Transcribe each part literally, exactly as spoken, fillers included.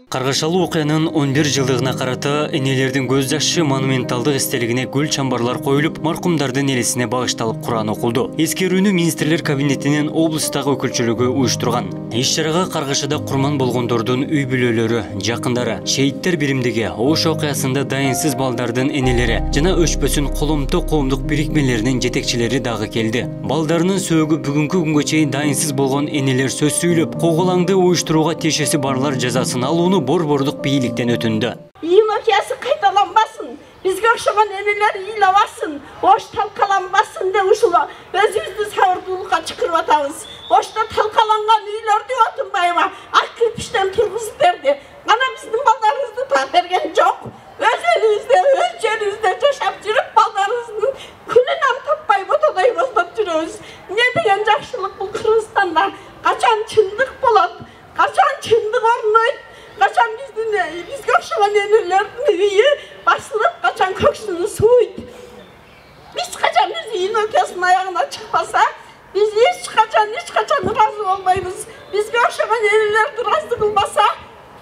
Каргашалуу окуянын он бир жылдыгына карата энелердин көз жашы монументалдык эстелигине гүл чамбарлар коюлуп, маркумдардын элесине багышталып Куран окулду. Эскерүүнү министрлер кабинетинин облустагы өкүлчүлүгү уюштурган. Иш-чарага Каргашада курман болгондордун үй бүлөлөрү, жакындары, шейиттер биримдиги, Ош окуясында дайынсыз балдардын энелери жана өчпөсүн коломто коомдук бирикмелеринин жетекчилери дагы келди. Балдарынын сөөгү бүгүнкү күнгө чейин дайынсыз болгон энелер сөз сүйлөп, коголаңды уюштурууга тиешеси барлар жазасын алууну борбордук бийликтен өтүндү. Ийин окуясы кайталанбасын, бизге окшогон энелер ыйлабасын, Ош талкаланбасын деп ушул өзүбүздү сабырдуулукка чакырып атабыз. Ошто талкаланган үйлөрдү Отунбаева ак кирпичтен тургузуп берди. Ана биздин балдарыбызды таап берген жок. Өз элибизде, өз жерибизде жашап жүрүп, балдарыбыздын күнүнөн таппай ботодой боздоп жүрөбүз. Эмне деген жакшылык бул Кыргызстанда? Качан чындык болот? Качан чындык орнойт? Качан биздин бизге окшогон энелердин үйү басылып, качан көксүнү сууйт? Биз качан биз ийин окуясынын аягына чыкпаса, биз эч качан, эч качан ыраазы болбойбуз. Бизге окшогон энелерди ыраазы кылбаса,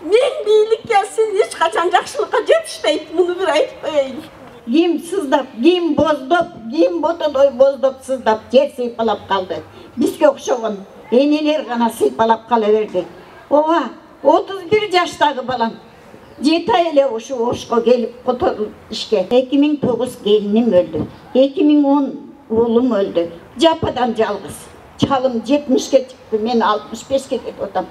мен бийлик келсин, эч качан жакшылыкка жетишпейт. Муну бир айтып коеюн. Ким сыздап, ким боздоп, ким ботодой боздоп сыздап жер сыйпалап калды. Бизге окшогон энелер гана сыйпалап кала берди. Ооба, отуз бир жаштагы балам жети ай эле ушу Ошко келип которуп ишке. эки миң тогуз келиним өлдү. эки миң он уулум өлдү. Жападан жалгыз. Чалым жетимишке чыкты, мен алтымыш бешке кетип атам.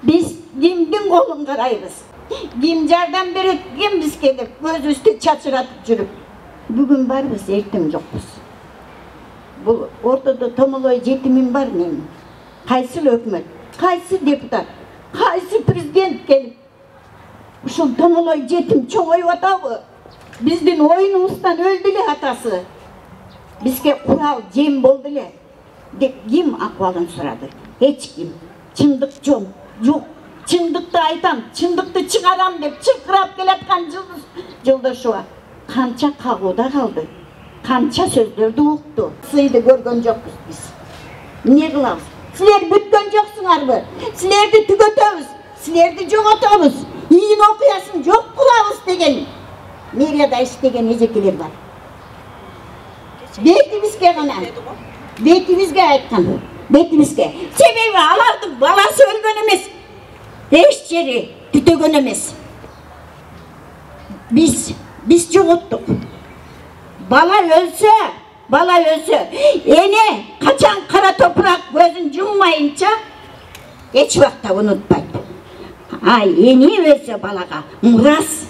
Биз кимдин колун карайбыз? Ким жардам берет, ким бизге деп көзүбүздү чачыратып жүрүп. Бүгүн барбыз, эртең жокпуз. Бул ортодо томолой жетимим бар менин. Кайсы өкмөт, кайсы депутат, кайсы президент келип ушул томолой жетим чоңоюп атабы? Биздин оюнубуздан өлдү эле атасы. Бизге курал жем болду эле деп ким акыбалын сурады? Эч ким. Чындык жок. Жок. Чындыкты айтам, чындыкты чыгарам деп чыркырап келаткан Жылдыз Жолдошова канча кагууда калды? Канча сөздөрдү укту? Сыйды көргөн жокпуз биз. Эмне кылабыз? Силер бүткөн жоксуңарбы? Силерди түгөтөбүз, силерди жоготобуз. Ийин окуясын жок кылабыз деген мэрияда иштеген эжекелер бар. Бетибизге гана, бетибизге айткан, бетибизге. Себеби алардын баласы өлгөн эмес, эч жери түтөгөн эмес. Биз, биз жоготтук. Бала өлсө, бала өлсө, эне качан кара топурак көзүн жуммайынча эч убакта унутпайт. А эне өлсө балага мурас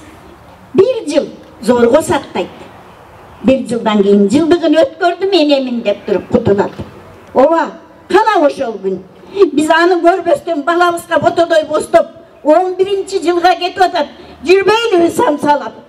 бир жыл зорго сактайт. Бир жылдан кийин жылдыгын өткөрдүм энемин деп туруп кутулат. Ооба, кана ошол күн. Биз аны көрбөстөн балабызга ботодой боздоп он биринчи жылга кетип атат. Жүрбөйлүбүз самсалап.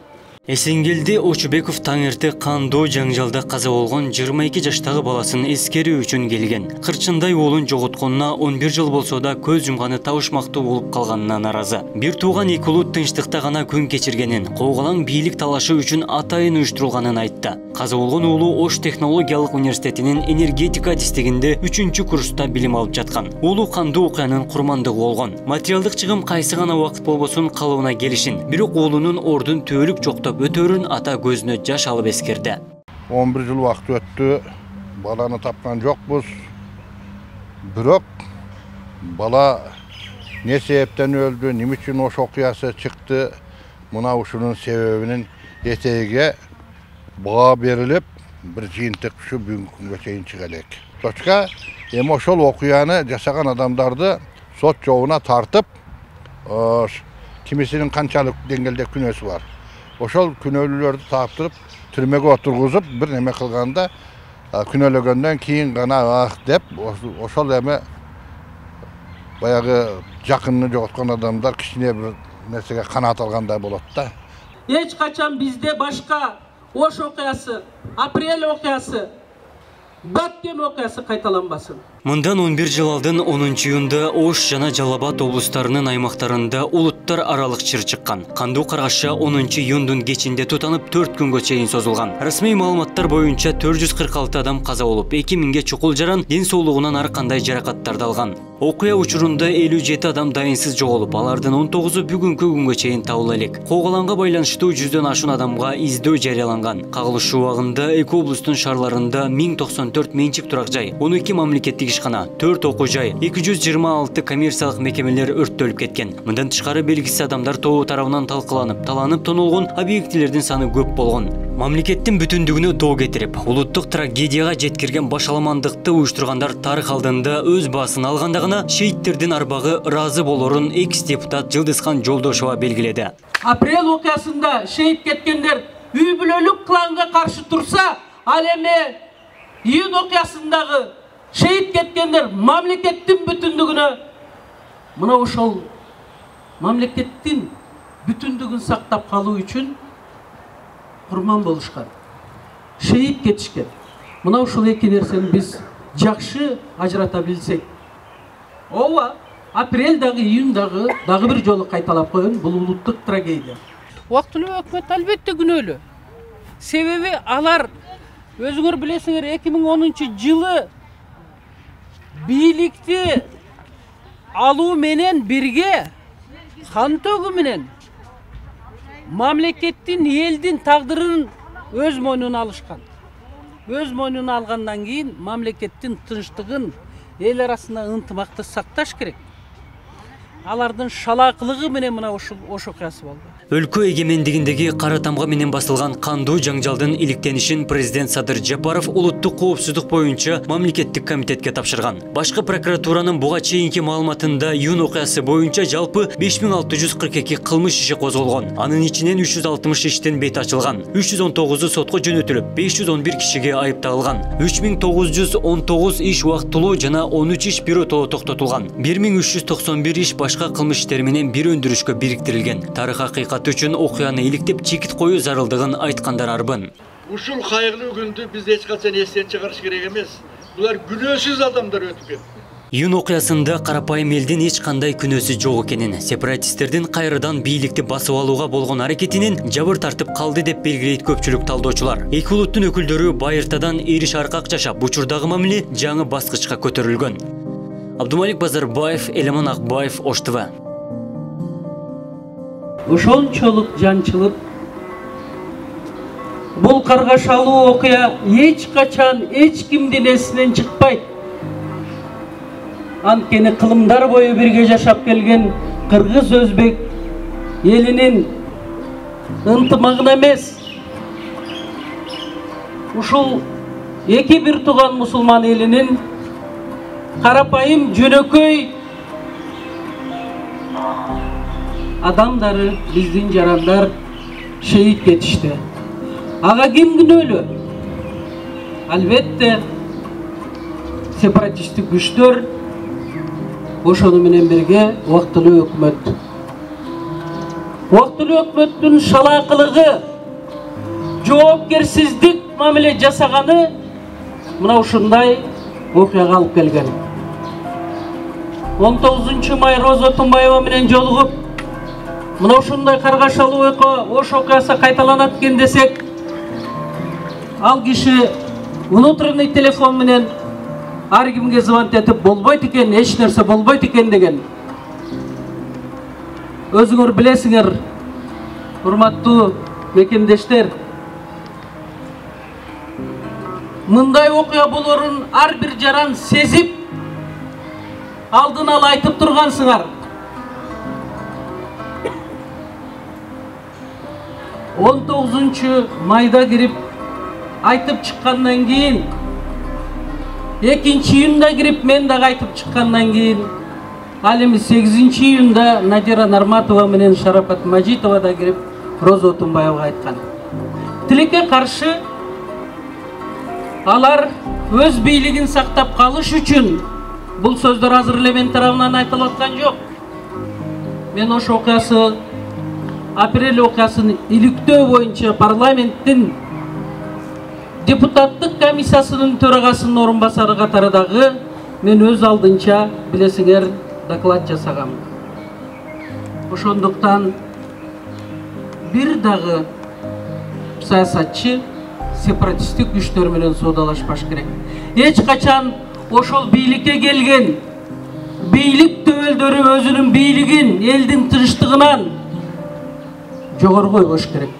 Эсенгелди Очубеков таңерте кандуу жаңжалда каза болгон жыйырма эки жаштагы баласын эскерүү үчүн келген. Кырчындай уулун жоготконуна он бир жыл болсо да көз жумганы табышмактуу болуп калганына наразы. Бир тууган эки уулу тынчтыкта гана күн кечиргенин, коголаң бийлик талашы үчүн атайын уюштурулганын айтты. Каза болгон уулу Ош технологиялык университетинин энергетика адистигинде үчүнчү курста билим алып жаткан. Уулу кандуу окуянын курмандыгы болгон. Материалдык чыгым кайсы гана убакыт болбосун калыбына келишин. Бирок уулунун ордун төөлүк жоктоп өтөрүн ата көзүнө жаш алып эскерди. он бир жыл убакыт өттү. Баланы тапкан жокпуз. Бирок бала не себептен өлдү, эмне үчүн Ош окуясы чыкты? Мына ушунун себебинин этеге баа берилип, бир жыйынтык ушу бүгүнкү күнгө чейин чыга элек. Точка эми ошол окуяны жасаган адамдарды сот жобуна тартып, кимисинин канчалык деңгээлде күнөөсү бар. Ошол күнөөлүүлөрдү таптырып, түрмөгө отургузуп, бир неме кылганда, күнөөлөгөндөн кийин гана ах деп, ошол эми баягы жакынын жоготкон адамдар кичине бир нерсеге канаат алгандай болот да. Эч качан бизде башка Ош окуясы, Апрель окуясы, Баткен окуясы кайталанбасын. Мындан он бир жыл алдын онунчу июнда Ош жана Жалал Абад облустарынын аймактарында улуттар аралык чыр чыккан. Кандуу каргаша онунчу июндун кечинде тутанып төрт күнгө чейин созулган. Расмий маалыматтар боюнча төрт жүз кырк алты адам каза болуп, эки миңге чукул жаран, ден соолугунан ар кандай жаракаттарды алган. Окуя учурунда элүү жети адам дайынсыз жоголуп, алардын он тогузу бүгүнкү күнгө чейин табыла элек. Кооголанга байланыштуу жүздөн ашуун адамга издөө жарыяланган. Кагылыш убагында эки облустун шаарларында миң токсон төрт менчик турак жай, он эки мамлекеттик ишкана, төрт окуу жай, эки жүз жыйырма алты коммерциялык мекемелер өрттөлүп кеткен. Мындан тышкары белгисиз адамдар тобу тарабынан талкаланып, таланып тонолгон объектилердин саны көп болгон. Мамлекеттин бүтүндүгүнө доо кетирип, улуттук трагедияга жеткирген башаламандыкты уюштургандар тарых алдында өз баасын алганда гана шейттердин арбагы ыраазы болорун экс-депутат Жылдызхан Жолдошова белгиледи. Апрель окуясында шейит кеткендер үй бүлөлүк кланга каршы турса, ал эми июнь окуясындагы шейит кеткендер мамлекеттин бүтүндүгүнө, мына ошол мамлекеттин бүтүндүгүн сактап калуу үчүн курман болушкан, шейит кетишкен. Мына ушул эки нерсени биз жакшы ажырата билсек, ооба, апрель дагы, июнь дагы дагы бир жолу кайталап коеюн, бул улуттук трагедия. Убактылуу өкмөт албетте күнөөлүү. Себеби алар, өзүңөр билесиңер, эки миң онунчу жылы бийликти алуу менен бирге кан төгүү менен мамлекеттин, элдин тагдырын өз мойнуна алышкан. Өз мойнуна алгандан кийин мамлекеттин тынчтыгын, эл арасында ынтымакты сакташ керек. Алардын шалаакылыгы менен мына ошол ош окуясы болду. Өлкө эгемендигиндеги кара тамга менен басылган кандуу жаңжалдын иликтенишин президент Садыр Жапаров улуттук коопсуздук боюнча мамлекеттик комитетке тапшырган. Башкы прокуратуранын буга чейинки маалыматында июнь окуясы боюнча жалпы беш миң алты жүз кырк эки кылмыш иши козголгон. Анын ичинен үч жүз алтымыш иштин бети ачылган. үч жүз он тогузу сотко жөнөтүлүп, беш жүз он бир кишиге айып тагылган. үч миң тогуз жүз он тогуз иш убактылуу жана он үч иш биротоло токтотулган. бир миң үч жүз токсон бир иш башка кылмыш иштери менен бир өндүрүшкө бириктирилген. Тарых акыйкат үчүн окуяны иликтеп чекит коюу зарылдыгын айткандар арбын. Ушул кайгылуу күндү биз эч качан эстен чыгарыш керек эмес. Булар күнөөсүз адамдар өтүп кетти. Июнь окуясында карапайым элдин эч кандай күнөөсү жок экенин, сепаратисттердин кайрадан бийликти басып алууга болгон аракетинен жабыр тартып калды деп белгилейт көпчүлүк талдоочулар. Эки улуттун өкүлдөрү байыртадан эриш аркак жашап, учурдагы мамиле жаңы баскычка көтөрүлгөн. Абдумалик Базарбаев, Элеман Акбаев, Ош ТВ. Ошончолук жанчылык, бул каргашалуу окуя эч качан эч кимдин эсинен чыкпайт. Анткени кылымдар бою бирге жашап келген кыргыз өзбек элинин ынтымагына эмес, ушул эки бир тууган мусулман элинин карапайым жөнөкөй адамдары, биздин жарандар шейит кетишти. Ага ким күнөөлүү? Албетте сепаратисттик күчтөр, ошону менен бирге убактылуу өкмөт. Убактылуу өкмөттүн шалаакылыгы, жоопкерсиздик мамиле жасаганы мына ушундай окуяга алып келген. он тогузунчу май Роза Тумбаева менен жолугуп, мына ушундай каргашалуу окуя Ош окуясы кайталанат экен десек, ал киши внутренний телефон менен ар кимге звонить этип болбойт экен, эч нерсе болбойт экен деген. Өзүңөр билесиңер, урматтуу мекендештер, мындай окуя болорун ар бир жаран сезип, алдын ала айтып тургансыңар. он тогузунчу майда кирип айтып чыккандан кийин, экинчи июнда кирип мен дагы айтып чыккандан кийин, ал эми сегизинчи июнда Надира Нарматова менен Шарапат Мажитова да кирип Роза Тумбаевага айткан. Тилекке каршы алар өз бийлигин сактап калыш үчүн бул сөздөр азыр эле мен тарабынан айтылып аткан жок. Мен ош окуясы, апрель окуясын иликтөө боюнча парламенттин депутаттык комиссиясынын төрагасынын орун басары катары дагы мен өз алдынча билесиңер доклад жасагам. Ошондуктан бир дагы саясатчы сепаратисттик күчтөр менен соодалашпаш керек. Эч качан ошол бийликке келген бийлик төбөлдөрү өзүнүн бийлигин элдин тынчтыгынан жогору койбош керек.